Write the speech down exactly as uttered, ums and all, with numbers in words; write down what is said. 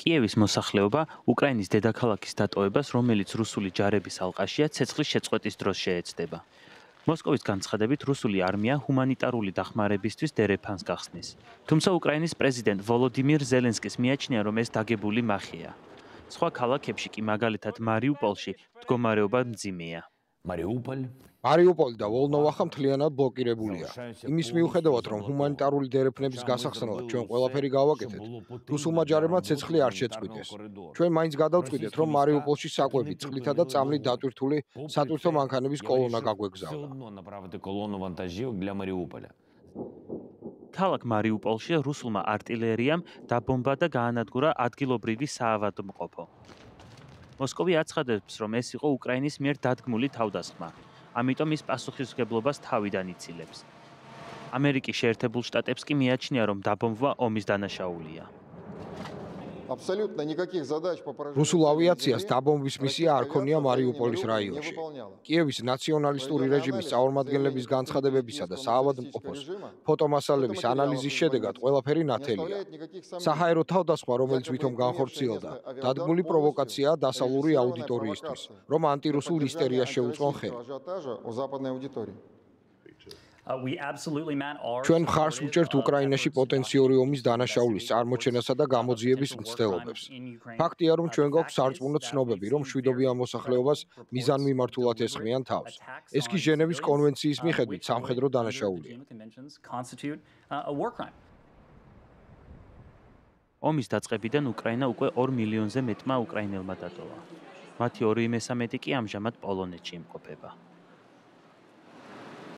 კიევის მოსახლეობა უკრაინის დედაქალაქის დატოვებას, რომელიც რუსული ჯარების ალყაშია, ცეცხლის შეწყვეტის დროს შეეცდება. მოსკოვის განცხადებით, რუსული არმია ჰუმანიტარული დახმარებისთვის დერეფანს გახსნის. თუმცა უკრაინის პრეზიდენტ ვოლოდიმირ ზელენსკის მიაჩნია, რომ ეს დაგებული მახეა. სხვა ქალაქებში კი, მაგალითად მარიუპოლში, მდგომარეობა მძიმეა. მარიუპოლი და ვოლნოვახა მთლიანად ბლოკირებულია. იმის მიუხედავად, რომ ჰუმანიტარული დერეფნების გასახსნელად ჩვენ ყველაფერი გავაკეთეთ, რუსულმა ჯარებმა ცეცხლი არ შეწყვიტეს. ჩვენ მაინც გადავწყვიტეთ, რომ მარიუპოლში საკვები, წყლითა და წამლით დატვირთული სატვირთო მანქანების კოლონა გაგვეგზავნა. ქალაქ მარიუპოლში რუსულმა არტილერიამ დაბომბა და გაანადგურა ადგილობრივი საავადმყოფო. მოსკოვი აცხადებს, რომ ეს იყო უკრაინის მიერ დადგმული თავდასხმა. ამიტომ ის პასუხისმგებლობას თავიდან იცილებს. ამერიკის შეერთებულ შტატებს კი მიაჩნია, რომ დაბომბვა ომის დანაშაულია. რუსულ ავიაციას დაბომბვის მისია არ ქონია მარიუპოლის რაიონში. კიევის ნაციონალისტური რეჟიმის წარმომადგენლების განცხადებებისა და საავადმყოფოს ფოტომასალების ანალიზის შედეგად ყველაფერი ნათელია. საჰაერო თავდასხმა, რომელიც ვითომ განხორციელდა, დადგმული პროვოკაციაა დასავლური აუდიტორიისთვის, რომ ანტირუსულ ისტერიას შეუწყონ ხელი. ჩვენ მხარს ვუჭერთ უკრაინაში პოტენციური ომის დანაშაულის წარმოჩენასა და გამოძიების მცდელობებს. ფაქტია, რომ ჩვენ გვაქვს სარწმუნო ცნობები, რომ მშვიდობიან მოსახლეობას მიზანმიმართულად ესხმიან თავს. ეს კი ჟენევის კონვენციის მიხედვით სამხედრო დანაშაულია. ომის დაწყებიდან უკრაინა უკვე ორ მილიონზე მეტმა უკრაინელმა დატოვა. მათი ორი მესამედი კი ამჟამად პოლონეთში იმყოფება.